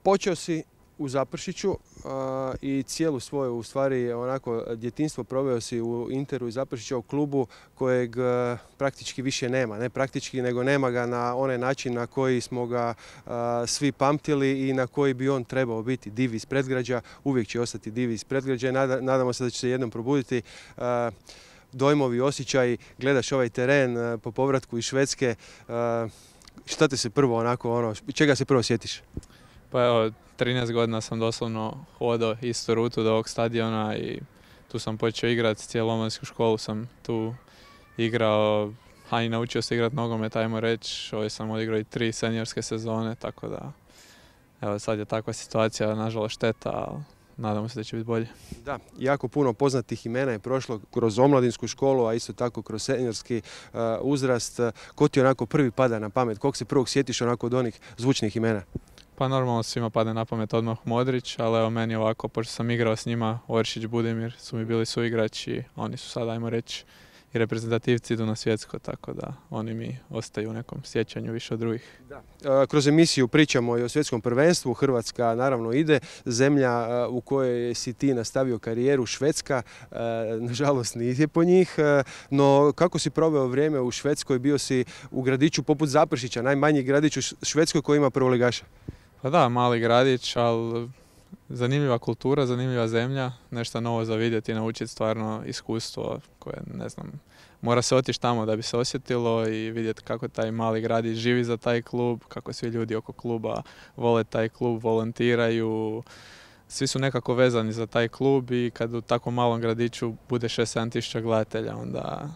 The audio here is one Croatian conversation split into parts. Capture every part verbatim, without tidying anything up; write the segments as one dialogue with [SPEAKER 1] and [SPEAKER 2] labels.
[SPEAKER 1] Počeo si u Zaprešiću a, i cijelu svoju, u stvari, onako, djetinjstvo proveo si u Interu i Zaprešića, u klubu kojeg a, praktički više nema. Ne praktički, nego nema ga na onaj način na koji smo ga a, svi pamtili i na koji bi on trebao biti. Div iz predgrađa, uvijek će ostati div iz predgrađa. Nada, nadamo se da će se jednom probuditi. A, dojmovi, osjećaji, gledaš ovaj teren a, po povratku iz Švedske. A, šta te se prvo onako, ono, čega se prvo sjetiš?
[SPEAKER 2] Pa evo, trinaest godina sam doslovno hodao istu rutu do ovog stadiona i tu sam počeo igrati, cijelu omladinsku školu sam tu igrao, a i naučio se igrati nogomet, ajmo reći. Ovdje sam odigrao i tri seniorske sezone, tako da evo, sad je takva situacija, nažalost šteta, ali nadamo se da će biti bolje.
[SPEAKER 1] Da, jako puno poznatih imena je prošlo kroz omladinsku školu, a isto tako kroz seniorski uh, uzrast. Ko ti onako prvi pada na pamet? Kog se prvog sjetiš onako od onih zvučnih imena?
[SPEAKER 2] Pa normalno svima pada na pamet odmah Modrić, ali evo meni ovako, pošto sam igrao s njima, Oršić, Budimir su mi bili suigrači, oni su sad, ajmo reći, i reprezentativci idu na svjetsko, tako da oni mi ostaju u nekom sjećanju više od drugih.
[SPEAKER 1] Da. Kroz emisiju pričamo i o svjetskom prvenstvu. Hrvatska naravno ide, zemlja u kojoj si ti nastavio karijeru, Švedska, nažalost nije po njih, no kako si proveo vrijeme u Švedskoj? Bio si u gradiću poput Zaprešića, najmanji gradić u Švedskoj koji ima prvoligaša.
[SPEAKER 2] Pa da, mali gradić, ali zanimljiva kultura, zanimljiva zemlja, nešto novo za vidjeti i naučiti, stvarno iskustvo koje, ne znam, mora se otići tamo da bi se osjetilo i vidjeti kako taj mali gradić živi za taj klub, kako svi ljudi oko kluba vole taj klub, volontiraju, svi su nekako vezani za taj klub i kad u tako malom gradiću bude šest sedam tisuća gledatelja, onda...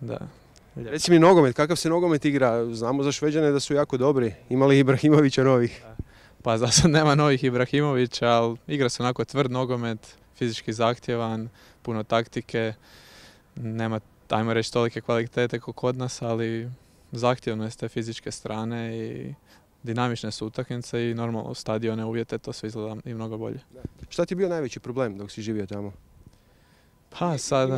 [SPEAKER 2] Da.
[SPEAKER 1] Reci mi nogomet, kakav se nogomet igra? Znamo za Šveđane da su jako dobri, imali Ibrahimovića novih.
[SPEAKER 2] Pa za sad nema novih Ibrahimovića, ali igra se onako tvrd nogomet, fizički zahtjevan, puno taktike, nema, ajmo reći, tolike kvalitete kao kod nas, ali zahtjevno je s te fizičke strane i dinamične su utakmice i normalno u stadione uvjete to sve izgleda i mnogo bolje.
[SPEAKER 1] Da. Šta ti je bio najveći problem dok si živio tamo?
[SPEAKER 2] Pa sad...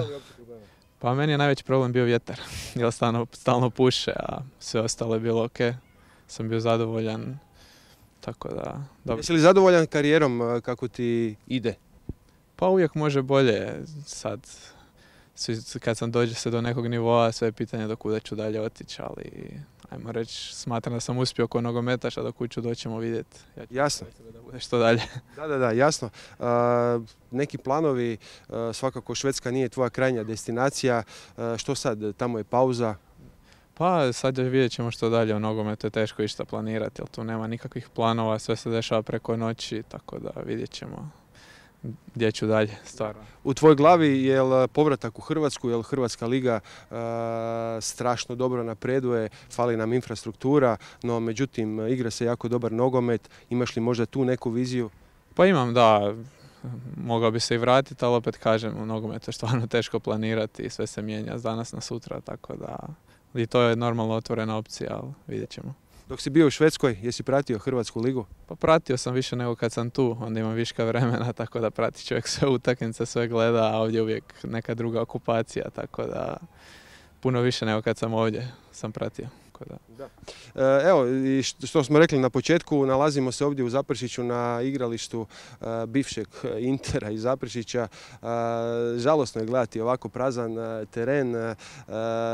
[SPEAKER 2] Pa meni je najveći problem bio vjetar, jer stalno, stalno puše, a sve ostalo je bilo ok, sam bio zadovoljan. Tako da, dobro.
[SPEAKER 1] Jesi li zadovoljan karijerom kako ti ide?
[SPEAKER 2] Pa uvijek može bolje. Sad, kad sam dođe se do nekog nivoa, sve je pitanje do kuda ću dalje otići, ali ajmo reći, smatram da sam uspio kao nogometaš, a do kuda ću doćemo vidjeti. Ja
[SPEAKER 1] jasno.
[SPEAKER 2] Da bude što dalje.
[SPEAKER 1] Da, da, da, jasno. Uh, neki planovi, uh, svakako Švedska nije tvoja krajnja destinacija. Uh, što sad, tamo je pauza?
[SPEAKER 2] Pa sad vidjet ćemo što dalje, u nogometu je teško išta planirati, jer tu nema nikakvih planova, sve se dešava preko noći, tako da vidjet ćemo gdje ću dalje, stvarno.
[SPEAKER 1] U tvojoj glavi je li povratak u Hrvatsku, je li Hrvatska liga uh, strašno dobro napreduje, fali nam infrastruktura, no međutim igra se jako dobar nogomet, imaš li možda tu neku viziju?
[SPEAKER 2] Pa imam, da. Mogao bi se i vratiti, ali opet kažem, u nogometu je stvarno teško planirati i sve se mijenja s danas na sutra, tako da... I to je normalno otvorena opcija, ali vidjet ćemo.
[SPEAKER 1] Dok si bio u Švedskoj, jesi pratio Hrvatsku ligu?
[SPEAKER 2] Pa pratio sam više nego kad sam tu, onda imam viška vremena, tako da prati čovjek sve utakmice, sve gleda, a ovdje uvijek neka druga okupacija, tako da puno više nego kad sam ovdje sam pratio. Da.
[SPEAKER 1] Da. Evo, i što smo rekli na početku, nalazimo se ovdje u Zaprešiću na igralištu uh, bivšeg Intera iz Zaprešića. Uh, žalosno je gledati ovako prazan uh, teren. Uh,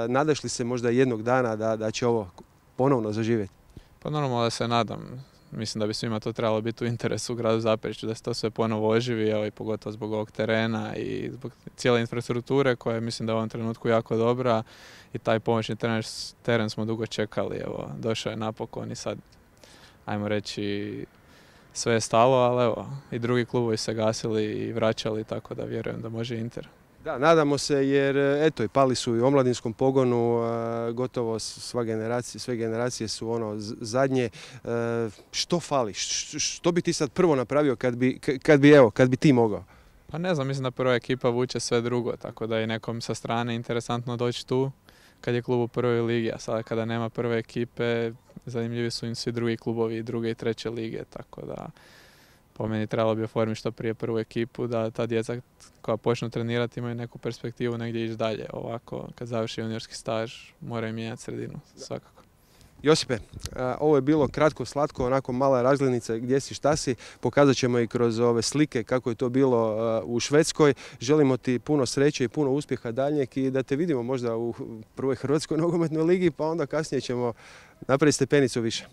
[SPEAKER 1] nadaš li se možda jednog dana da, da će ovo ponovno zaživjeti?
[SPEAKER 2] Pa normalno da se nadam. Mislim da bi svima to trebalo biti u interesu u gradu Zaprešiću, da se to sve ponovo oživi, evo, i pogotovo zbog ovog terena i zbog cijele infrastrukture koja je, mislim da je u ovom trenutku jako dobra i taj pomoćni teren, teren smo dugo čekali, evo, došao je napokon i sad, ajmo reći, sve je stalo, ali evo, i drugi klubovi se gasili i vraćali, tako da vjerujem da može Inter.
[SPEAKER 1] Da, nadamo se jer eto i pali su i u omladinskom pogonu, gotovo sva generacija, sve generacije su ono zadnje. Što fali? Što bi ti sad prvo napravio kad bi, kad bi, evo, kad bi ti mogao?
[SPEAKER 2] Pa ne znam, mislim da prva ekipa vuče sve drugo, tako da je nekom sa strane interesantno doći tu kad je klub u prvoj ligi, a sada kada nema prve ekipe zanimljivi su im svi drugi klubovi, druge i treće lige, tako da po meni trebalo bi oformiti što prije prvu ekipu, da ta djeca koja počnu trenirati imaju neku perspektivu negdje ići dalje. Ovako, kad završi juniorski staž, moraju mijenjati sredinu, svakako.
[SPEAKER 1] Josipe, ovo je bilo kratko, slatko, onako mala razglednica gdje si, šta si. Pokazat ćemo i kroz ove slike kako je to bilo u Švedskoj. Želimo ti puno sreće i puno uspjeha daljnjeg i da te vidimo možda u prvoj Hrvatskoj nogometnoj ligi, pa onda kasnije ćemo napraviti stepenicu više.